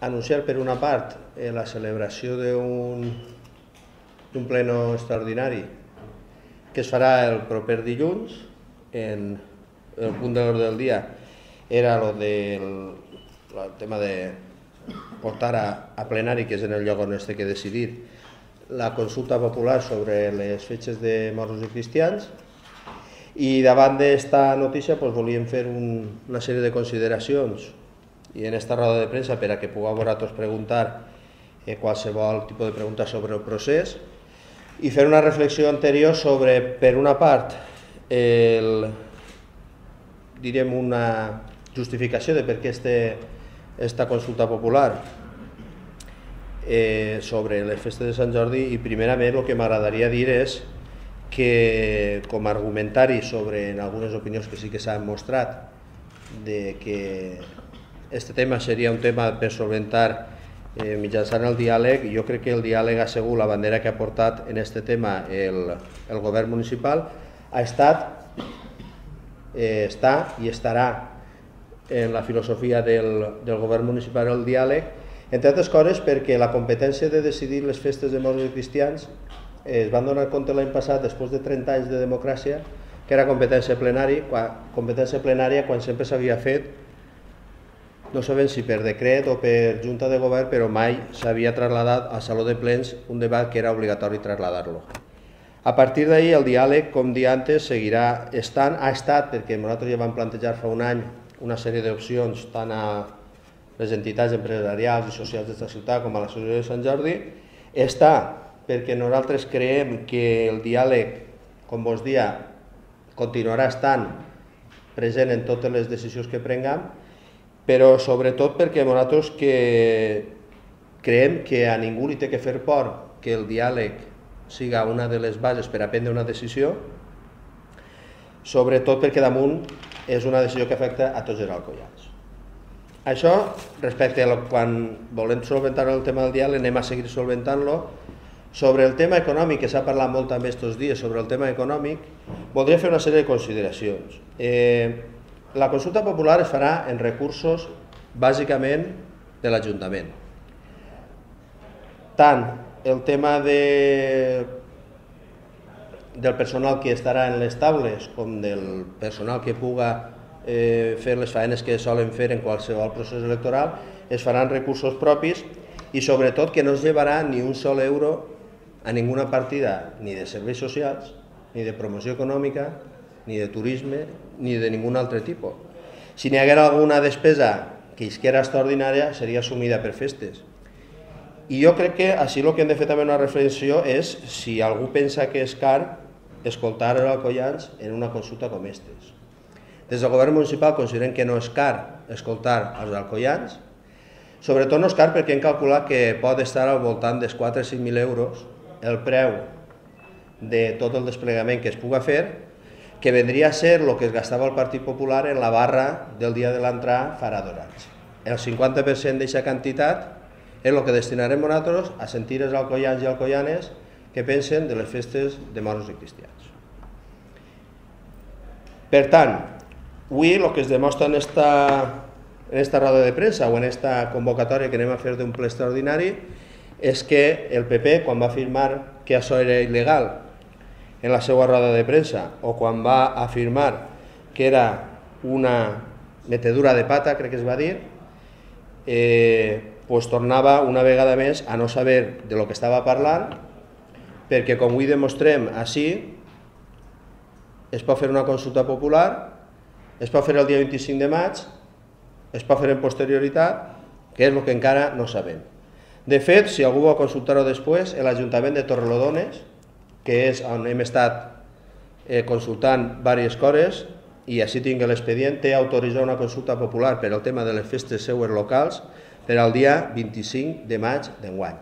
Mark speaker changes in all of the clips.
Speaker 1: anunciar per una part la celebració d'un pleno extraordinari que es farà el proper dilluns. El punt de l'ordre del dia era el tema de portar a plenari, que és en el lloc on es té que decidir, la consulta popular sobre les fetges de morts i cristians. I davant d'esta notícia volíem fer una sèrie de consideracions i en esta roda de premsa per a que pugueu vosaltres preguntar qualsevol tipus de pregunta sobre el procés i fer una reflexió anterior sobre, per una part, direm una justificació de per què esta consulta popular sobre les festes de Sant Jordi, i primerament el que m'agradaria dir és que com a argumentari sobre algunes opinions que sí que s'han mostrat de que este tema seria un tema per solventar mitjançant el diàleg, jo crec que el diàleg ha sigut la bandera que ha portat en este tema el govern municipal, ha estat, està i estarà en la filosofia del govern municipal el diàleg, entre altres coses perquè la competència de decidir les festes de morts i cristians es van donar compte l'any passat, després de 30 anys de democràcia, que era competència plenària quan sempre s'havia fet, no sabem si per decret o per junta de govern, però mai s'havia trasladat al saló de plens un debat que era obligatori traslladar-lo. A partir d'ahir el diàleg, com dia antes, seguirà estant, ha estat, perquè nosaltres ja vam plantejar fa un any una sèrie d'opcions tant a les entitats empresarials i socials d'esta ciutat com a l'associació de Sant Jordi, està perquè nosaltres creiem que el diàleg, com vos dia, continuarà estant present en totes les decisions que prenguem, però sobretot perquè nosaltres creiem que a ningú li té que fer por que el diàleg siga una de les bases per a prendre una decisió, sobretot perquè damunt és una decisió que afecta a tots els alcoians. Això, respecte a quan volem solventar el tema del diàleg, anem a seguir solventant-lo. Sobre el tema econòmic, que s'ha parlat molt també aquests dies sobre el tema econòmic, voldria fer una sèrie de consideracions. La consulta popular es farà en recursos bàsicament de l'Ajuntament. Tant el tema del personal que estarà en les taules com del personal que puga fer les faenes que solen fer en qualsevol procés electoral es faran recursos propis i sobretot que no es llevarà ni un sol euro a ninguna partida ni de serveis socials, ni de promoció econòmica, ni de turisme, ni de ningun altre tipus. Si n'hi haguera alguna despesa que isquera extraordinària, seria assumida per festes. I jo crec que així el que hem de fer també una reflexió és si algú pensa que és car escoltar els alcoians en una consulta com aquestes. Des del govern municipal considerem que no és car escoltar els alcoians, sobretot no és car perquè hem calculat que pot estar al voltant dels 4 o 5.000 euros el preu de tot el desplegament que es puga fer, que vendria a ser el que es gastava el Partit Popular en la barra del dia de l'entrada farà 2 anys. El 50% d'aquesta quantitat és el que destinarem nosaltres a sentir els alcoians i alcoianes que pensen de les festes de morts i cristians. Per tant, avui el que es demostra en esta roda de premsa o en esta convocatòria que anem a fer d'un ple extraordinari és que el PP, quan va afirmar que això era il·legal en la seva roda de premsa o quan va afirmar que era una metedura de pata, crec que es va dir, tornava una vegada més a no saber de lo que estava parlant, perquè com avui demostrem així, es pot fer una consulta popular, es pot fer el dia 25 de maig, es pot fer en posterioritat, que és el que encara no sabem. De fet, si algú vol consultar-ho després, l'Ajuntament de Torrelodones, que és on hem estat consultant diverses coses, i així tinc l'expedient, té autoritzat una consulta popular per al tema de les festes seues locals per al dia 25 de maig d'enguany.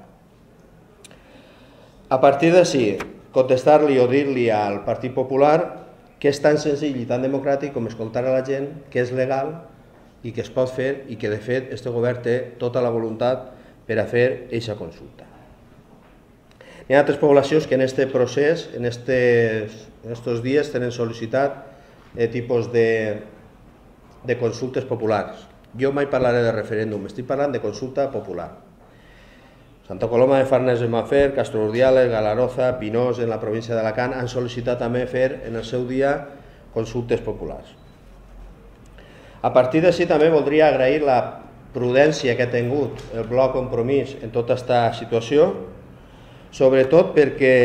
Speaker 1: A partir d'ací, contestar-li o dir-li al Partit Popular que és tan senzill i tan democràtic com escoltar a la gent, que és legal i que es pot fer i que de fet este govern té tota la voluntat per a fer aquesta consulta. Hi ha altres poblacions que en aquest procés, en aquests dies, tenen sol·licitat tipus de consultes populars. Jo mai parlaré de referèndum, estic parlant de consulta popular. Santa Coloma de Farners de Mafer, Castro Urdiales, Galaroza, Pinós, en la província d'Alacant, han sol·licitat també fer en el seu dia consultes populars. A partir d'ací també voldria agrair la prudència que ha tingut el bloc Compromís en tota aquesta situació, sobretot perquè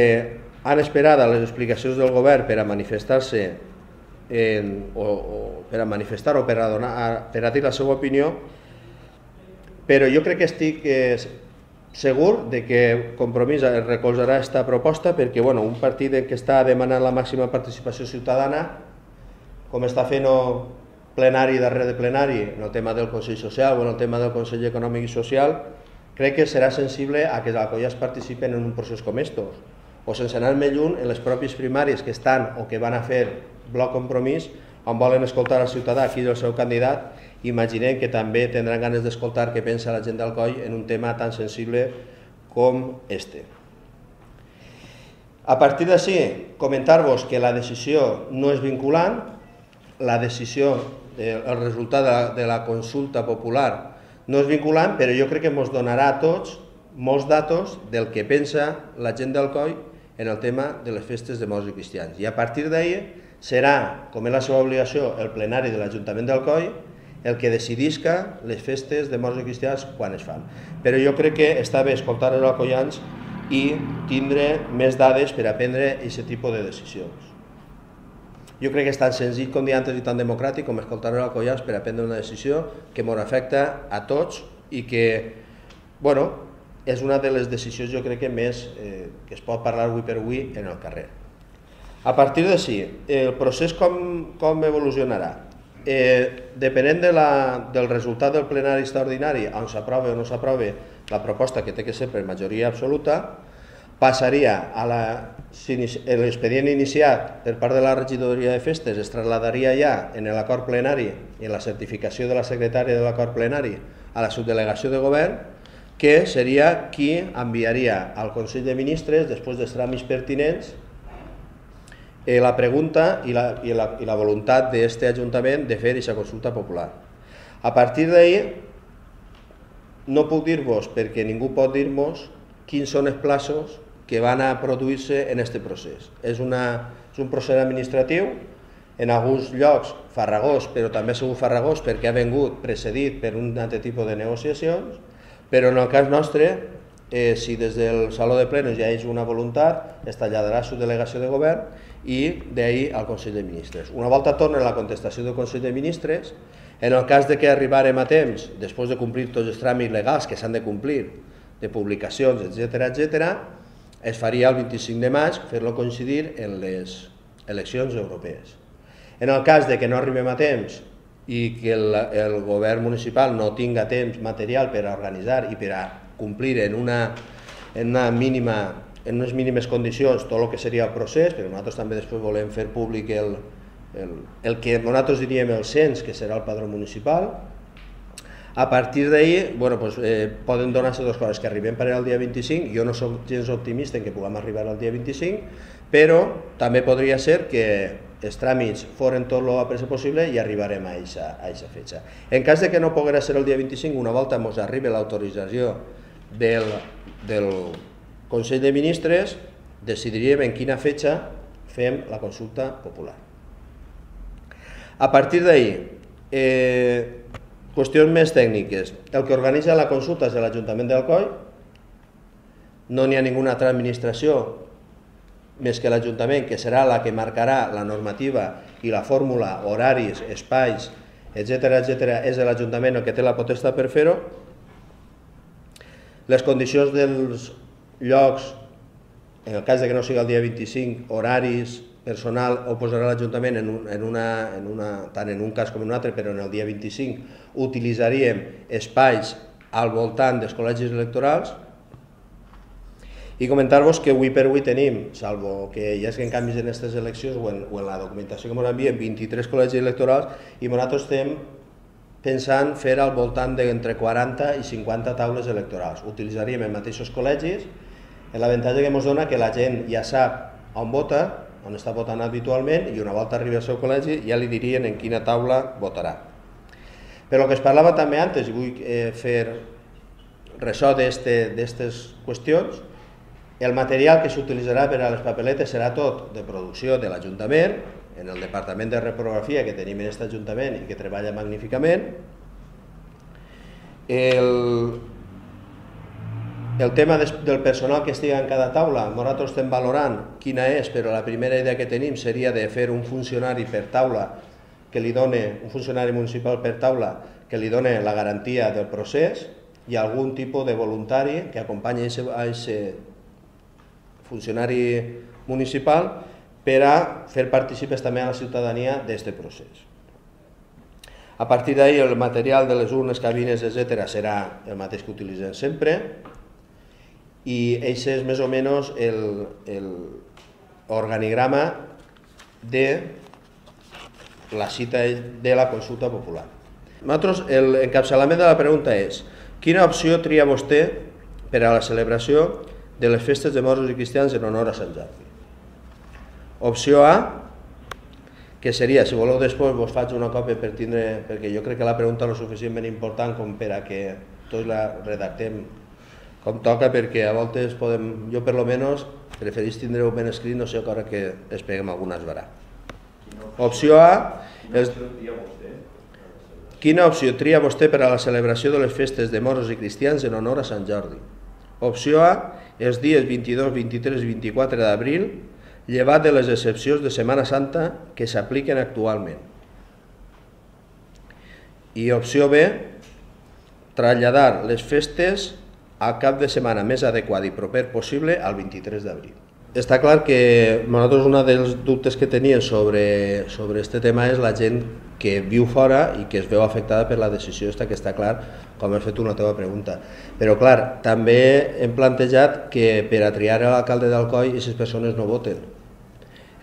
Speaker 1: han esperat a les explicacions del govern per a manifestar-se per a dir la seva opinió, però jo crec que estic segur de que Compromís recolzarà aquesta proposta perquè un partit que està demanant la màxima participació ciutadana, com està fent plenari darrere de plenari en el tema del Consell Social o en el tema del Consell Econòmic i Social, crec que serà sensible a que els alcoians participen en un procés com estos. O sense anar més lluny, en les pròpies primàries que estan o que van a fer bloc Compromís, on volen escoltar al ciutadà qui és el seu candidat, imaginem que també tindran ganes d'escoltar què pensa la gent d'Alcoi en un tema tan sensible com este. A partir d'ací, comentar-vos que la decisió no és vinculant, la decisió, el resultat de la consulta popular no és vinculant, però jo crec que ens donarà a tots molts datos del que pensa la gent d'Alcoi en el tema de les festes de morts i cristians. I a partir d'ahir serà, com és la seva obligació, el plenari de l'Ajuntament d'Alcoi el que decidisca les festes de morts i cristians quan es fan. Però jo crec que està bé escoltar els alcoians i tindre més dades per a prendre aquest tipus de decisions. Jo crec que és tan senzill com dir antes i tan democràtic com escoltar els alcoians per a prendre una decisió que ens afecta a tots i que, és una de les decisions jo crec que més que es pot parlar avui per avui en el carrer. A partir d'ací, el procés com evolucionarà? Depenent del resultat del plenari extraordinari, on s'aprova o no s'aprova la proposta que té que ser per majoria absoluta, passaria a l'expedient iniciat per part de la regidoria de festes, es trasladaria ja en l'acord plenari i en la certificació de la secretària de l'acord plenari a la subdelegació de govern, que seria qui enviaria al Consell de Ministres, després dels tràmits pertinents, la pregunta i la voluntat d'aquest Ajuntament de fer aquesta consulta popular. A partir d'ahir no puc dir-vos, perquè ningú pot dir-nos, quins són els plaços que van a produir-se en aquest procés. És un procés administratiu, en alguns llocs farragós, però també ha sigut farragós perquè ha vingut precedit per un altre tipus de negociacions, però en el cas nostre, si des del Saló de Plenos ja és una voluntat, es traslladarà a la subdelegació de govern i d'ahir al Consell de Ministres. Una volta torna la contestació del Consell de Ministres, en el cas que arribarem a temps, després de complir tots els tràmits legals que s'han de complir, de publicacions, etc., es faria el 25 de maig, fer-lo coincidir en les eleccions europees. En el cas que no arribem a temps i que el govern municipal no tinga temps material per a organitzar i per a complir en unes mínimes condicions tot el que seria el procés, però nosaltres també després volem fer públic el que nosaltres diríem el cens, que serà el padró municipal. A partir d'ahir poden donar-se dues coses, que arribem per al dia 25, jo no soc gens optimista en que puguem arribar al dia 25, però també podria ser que els tràmits foren tot el pressa possible i arribarem a aquesta fetge. En cas que no poguera ser el dia 25, una volta ens arribi l'autorització del Consell de Ministres, decidiríem en quina fetge fem la consulta popular. A partir d'ahir, qüestions més tècniques. El que organitza la consulta és l'Ajuntament d'Alcoi, no n'hi ha ninguna altra administració més que l'Ajuntament, que serà la que marcarà la normativa i la fórmula, horaris, espais, etc., és l'Ajuntament el que té la potestat per fer-ho. Les condicions dels llocs, en el cas que no sigui el dia 25, horaris, personal, ho posarà l'Ajuntament tant en un cas com en un altre, però en el dia 25 utilitzaríem espais al voltant dels col·legis electorals. I comentar-vos que avui per avui tenim, salvo que hi hagi canvis en aquestes eleccions o en la documentació que ens envien, 23 col·legis electorals, i nosaltres estem pensant fer al voltant d'entre 40 i 50 taules electorals. Utilitzaríem els mateixos col·legis, l'avantatge que ens dona que la gent ja sap on vota, on està votant habitualment, i una volta arribi al seu col·legi ja li dirien en quina taula votarà. Però el que es parlava també antes, i vull fer ressò d'aquestes qüestions, el material que s'utilitzarà per a les papeletes serà tot de producció de l'Ajuntament, en el departament de reprografia que tenim en aquest Ajuntament i que treballa magníficament. El tema del personal que estigui en cada taula, nosaltres estem valorant quina és, però la primera idea que tenim seria de fer un funcionari per taula que li doni, un funcionari municipal per taula que li doni la garantia del procés i algun tipus de voluntari que acompanyi a aquest funcionari municipal per a fer partícipes també a la ciutadania d'aquest procés. A partir d'ahí el material de les urnes, cabines, etc. serà el mateix que utilitzem sempre i aquest és més o menys l'organigrama de la cita de la consulta popular. Nosaltres, l'encapçalament de la pregunta és: quina opció tria vostè per a la celebració de les festes de moros i cristians en honor a Sant Jordi? Opció A, que seria, si voleu després vos faig una còpia per tindre, perquè jo crec que la pregunta és suficientment important com per a que tots la redactem com toca, perquè a voltes podem, jo per lo menos preferís tindre-ho ben escrit, no sé encara que es peguem alguna esbarà. Opció A, quina opció tria vostè per a la celebració de les festes de moros i cristians en honor a Sant Jordi? Opció A, els dies 22, 23 i 24 d'abril, llevat de les excepcions de Setmana Santa que s'apliquen actualment. I opció B, traslladar les festes al cap de setmana més adequat i proper possible al 23 d'abril. Està clar que nosaltres un dels dubtes que teníem sobre aquest tema és la gent que viu fora i que es veu afectada per la decisió que està clar, com has fet una teva pregunta. Però clar, també hem plantejat que per a triar l'alcalde d'Alcoi aquestes persones no voten.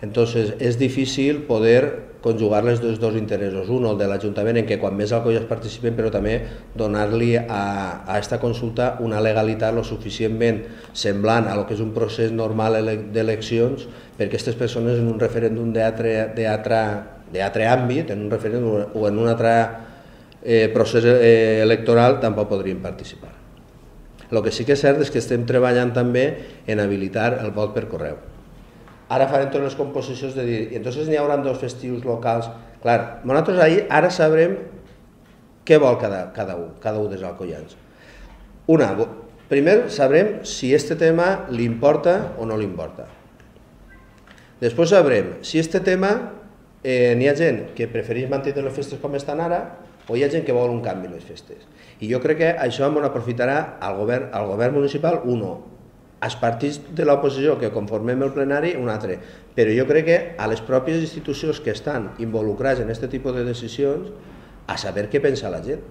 Speaker 1: Entonces és difícil poder conjugar els dos interessos. Un, el de l'Ajuntament, en què quan més alcoies participen, però també donar-li a aquesta consulta una legalitat lo suficientment semblant a lo que és un procés normal d'eleccions, perquè aquestes persones en un referèndum d'altre àmbit, en un referèndum o en un altre procés electoral, tampoc podrien participar. El que sí que és cert és que estem treballant també en habilitar el vot per correu. Ara farem totes les composicions de dir, i entonces n'hi haurà dos festius locals. Clar, nosaltres ara sabrem què vol cada un dels alcoians. Primer sabrem si aquest tema li importa o no li importa. Després sabrem si aquest tema n'hi ha gent que prefereix mantenir les festes com estan ara o hi ha gent que vol un canvi en les festes. I jo crec que això ens aprofitarà al govern municipal, als partits de l'oposició que conformem el plenari, un altre. Però jo crec que a les pròpies institucions que estan involucrades en aquest tipus de decisions, a saber què pensa la gent.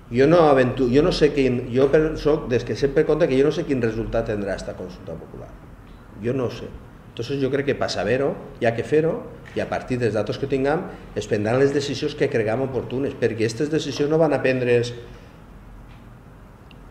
Speaker 1: Jo no sé quin, jo soc des que sempre compte que jo no sé quin resultat tindrà aquesta consulta popular. Jo no ho sé. Entonces jo crec que per saber-ho hi ha que fer-ho i a partir dels datos que tinguem es prendran les decisions que creguem oportunes, perquè aquestes decisions no van a prendre's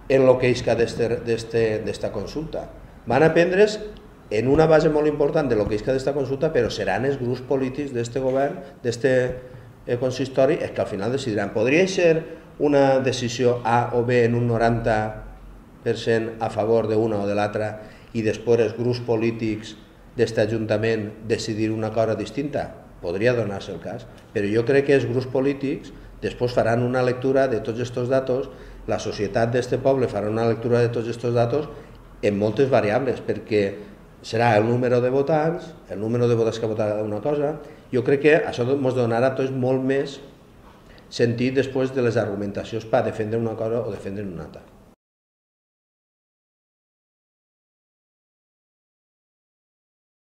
Speaker 1: en el que isca d'esta consulta. Van a prendre's en una base molt important de lo que isca d'esta consulta, però seran els grups polítics d'aquest govern, d'aquest consistori, els que al final decidiran. Podria ser una decisió A o B en un 90% a favor d'una o de l'altra i després els grups polítics d'aquest Ajuntament decidir una cosa distinta? Podria donar-se el cas, però jo crec que els grups polítics després faran una lectura de tots aquests datos, la societat d'aquest poble farà una lectura de tots aquests datos en moltes variables, perquè serà el número de votants, el número de votants que votarà una cosa. Jo crec que això ens donarà tots molt més sentit després de les argumentacions per defendre una cosa o defendre una altra.